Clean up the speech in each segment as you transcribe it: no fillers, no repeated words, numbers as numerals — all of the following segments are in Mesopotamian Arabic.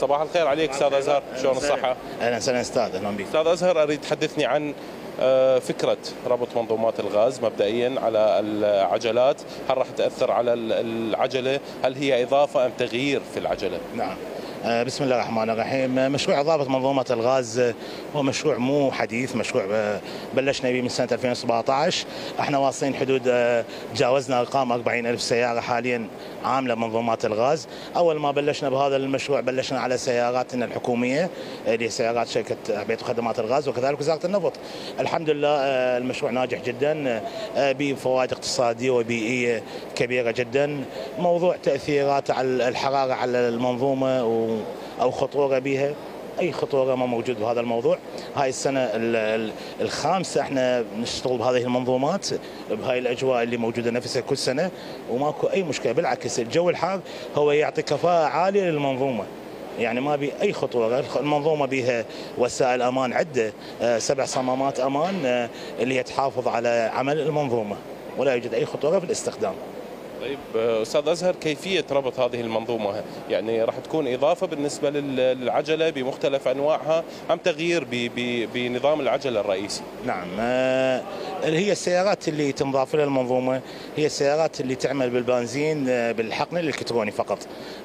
صباح الخير عليك استاذ ازهر، شلون الصحه؟ اهلا وسهلا استاذ، اهلا بك. استاذ ازهر، اريد تحدثني عن فكره ربط منظومات الغاز مبدئيا على العجلات، هل راح تاثر على العجله؟ هل هي اضافه ام تغيير في العجله؟ نعم. بسم الله الرحمن الرحيم. مشروع إضافة منظومة الغاز هو مشروع مو حديث، مشروع بلشنا به من سنة 2017. احنا واصلين حدود تجاوزنا ارقام 40,000 سيارة حاليا عاملة منظومات الغاز. اول ما بلشنا بهذا المشروع بلشنا على سياراتنا الحكومية اللي هي سيارات شركة بيت وخدمات الغاز وكذلك وزارة النفط. الحمد لله المشروع ناجح جدا بفوائد اقتصادية وبيئية كبيرة جدا. موضوع تأثيرات على الحرارة على المنظومة أو خطورة بها، أي خطورة ما موجود بهذا الموضوع. هاي السنة الخامسة احنا نشتغل بهذه المنظومات بهاي الأجواء اللي موجودة نفسها كل سنة وماكو أي مشكلة، بالعكس الجو الحار هو يعطي كفاءة عالية للمنظومة، يعني ما بي أي خطورة. المنظومة بها وسائل أمان عدة، 7 صمامات أمان اللي هي تحافظ على عمل المنظومة ولا يوجد أي خطورة في الاستخدام. طيب استاذ ازهر، كيفيه ربط هذه المنظومه؟ يعني راح تكون اضافه بالنسبه للعجله بمختلف انواعها ام تغيير بنظام العجله الرئيسي؟ نعم، هي السيارات اللي تنضاف لها المنظومه هي السيارات اللي تعمل بالبنزين بالحقن الالكتروني فقط،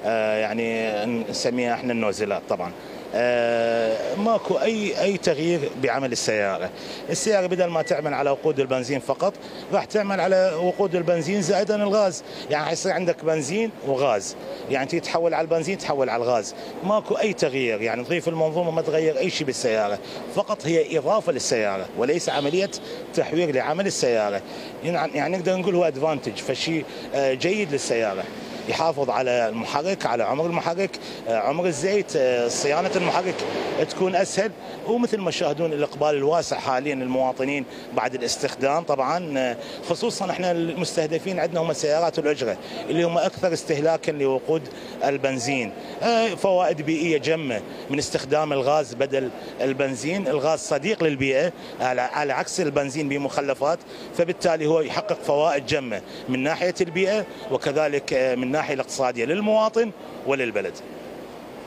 يعني نسميها احنا النوزلات. طبعا ماكو اي تغيير بعمل السياره. السياره بدل ما تعمل على وقود البنزين فقط راح تعمل على وقود البنزين زائدا الغاز، يعني حيصير عندك بنزين وغاز، يعني تيجي تحول على البنزين تحول على الغاز. ماكو اي تغيير، يعني تضيف المنظومه ما تغير اي شيء بالسياره، فقط هي اضافه للسياره وليس عمليه تحوير لعمل السياره. يعني نقدر نقول هو ادفانتج، فشيء جيد للسياره، يحافظ على المحرك، على عمر المحرك، عمر الزيت، صيانة المحرك تكون أسهل. ومثل ما تشاهدون الإقبال الواسع حاليا للمواطنين بعد الاستخدام. طبعا خصوصا احنا المستهدفين عندنا هم سيارات الأجرة اللي هم أكثر استهلاكا لوقود البنزين. فوائد بيئية جمة من استخدام الغاز بدل البنزين. الغاز صديق للبيئة على عكس البنزين بمخلفات، فبالتالي هو يحقق فوائد جمة من ناحية البيئة وكذلك من الناحية الاقتصادية للمواطن وللبلد.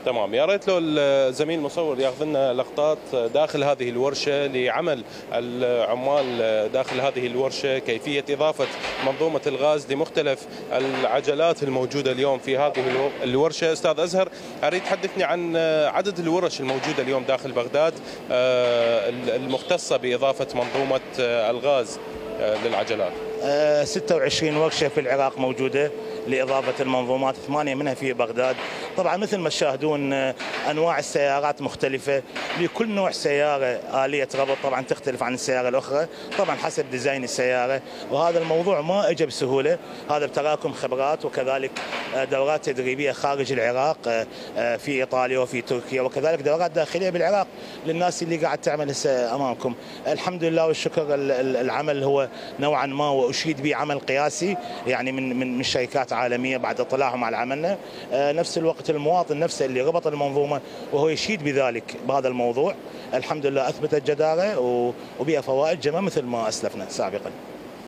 تمام، يا ريت لو الزميل المصور ياخذ لنا لقطات داخل هذه الورشه لعمل العمال داخل هذه الورشه، كيفيه اضافه منظومه الغاز لمختلف العجلات الموجوده اليوم في هذه الورشه. استاذ ازهر، اريد تحدثني عن عدد الورش الموجوده اليوم داخل بغداد المختصه باضافه منظومه الغاز للعجلات. 26 ورشه في العراق موجوده لإضافة المنظومات، 8 منها في بغداد. طبعا مثل ما تشاهدون أنواع السيارات مختلفة، لكل نوع سيارة آلية ربط طبعا تختلف عن السيارة الأخرى طبعا حسب ديزاين السيارة. وهذا الموضوع ما اجى بسهولة، هذا بتراكم خبرات وكذلك دورات تدريبية خارج العراق في إيطاليا وفي تركيا، وكذلك دورات داخلية بالعراق للناس اللي قاعد تعمل هسه أمامكم. الحمد لله والشكر، العمل هو نوعا ما وأشيد به عمل قياسي يعني من شركات عالمية بعد اطلاعهم على عملنا. نفس الوقت المواطن نفسه اللي ربط المنظومة وهو يشيد بذلك بهذا الموضوع، الحمد لله أثبتت جدارة وبها فوائد جمة مثل ما أسلفنا سابقا.